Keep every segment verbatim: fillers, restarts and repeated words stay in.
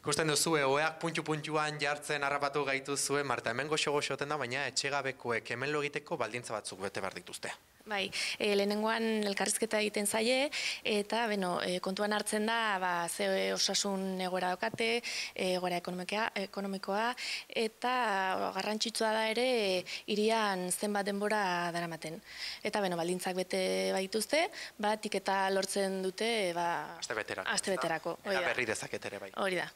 Ikusten duzu, oeak puntu-puntuan jartzen harrapatu gaitu zuen, Marta, hemen goxo-goxoten da, baina etxegabekoek hemen lo egiteko baldintza batzuk bete behar dituzte. Bai, e, lehenengoan elkarrizketa egiten zaie, eta beno, e, kontuan hartzen da, ba, ze osasun egoera daukate, egoera ekonomikoa, eta garrantzitsua da ere, hirian zenbat denbora daramaten. Eta beno, baldintzak bete baituzte, batik eta lortzen dute, ba, Aste beterako. Aste beterako. Eta berri dezaket ere bai. Hori da.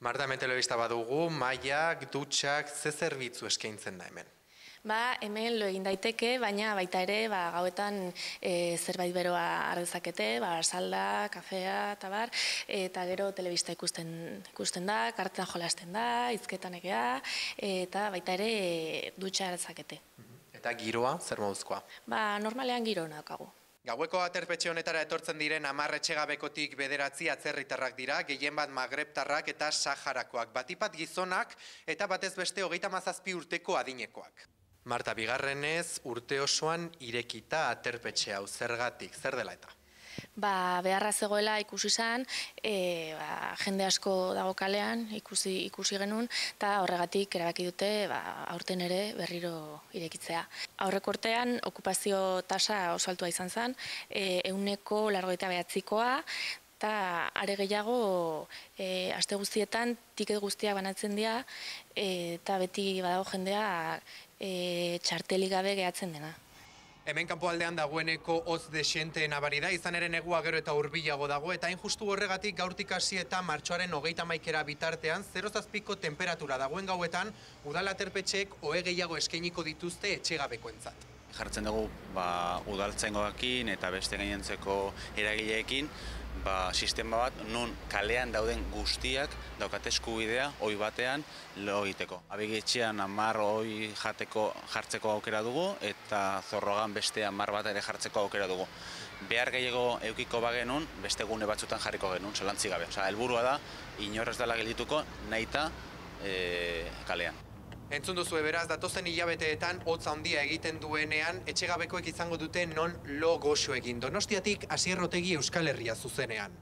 Marta, hemen telebista badugu, mailak, dutxak, ze zerbitzu eskaintzen da hemen? Ba, hemen lo egin daiteke, baina baita ere, ba, gauetan e, zerbait beroa ardezakete, ba, salda, kafea, eta bar, eta gero telebista ikusten, ikusten da, kartetan jolasten da, hizketan egea, eta baita ere dutxa ardezakete. Eta giroa, zer moduzkoa? Ba, normalean giro daukagu. Gaueko aterpetxe honetara etortzen diren hamar etxegabekotik bederatzi atzerritarrak dira, gehien bat magrebtarrak eta saharakoak, batipat gizonak eta batez beste hogeita hamazazpi urteko adinekoak. Marta, bigarrenez urte osoan irekita aterpetxe hau, zergatik, zer dela eta? Ba, beharra zegoela ikusi izan, e, ba, jende asko dago kalean, ikusi, ikusi genuen, eta horregatik erabaki dute ba, aurten ere berriro irekitzea. Aurreko urtean okupazio tasa oso altua izan zen, e, ehuneko laurogeita bederatzikoa, eta are gehiago e, aste guztietan tiket guztiak banatzen dira, e, eta beti badago jendea e, txartelik gabe gehatzen dena. Hemen kanpoaldean dagoeneko hotz desiente nabari da, izan ere negua gero eta hurbilago dago, eta hain justu horregatik gaurtik hasi eta martxoaren hogeita hamaikera bitartean, zero zazpiko temperatura dagoen gauetan, udal aterpetxeek ohe gehiago eskainiko dituzte etxegabekoentzat. Jartzen dugu ba, udaltzaingoekin eta beste gainontzeko eragileekin ba, sistema bat non kalean dauden guztiak daukate eskubidea ohi batean lo egiteko. Abigetxean hamar ohi jateko jartzeko aukera dugu eta Zorrogan beste hamar bat ere jartzeko aukera dugu. Behar gehiago eukiko bagenun, beste gune batzutan jarriko genuen, zalantzik gabe. Osea, helburua da inorrez dela geldituko nahita e, kalean. Entzun duzu beraz, datozen hilabeteetan hotza handia egiten duenean, etxegabekoek izango dute non lo goxo egin. Donostiatik Asier Otegi Euskal Herria zuzenean.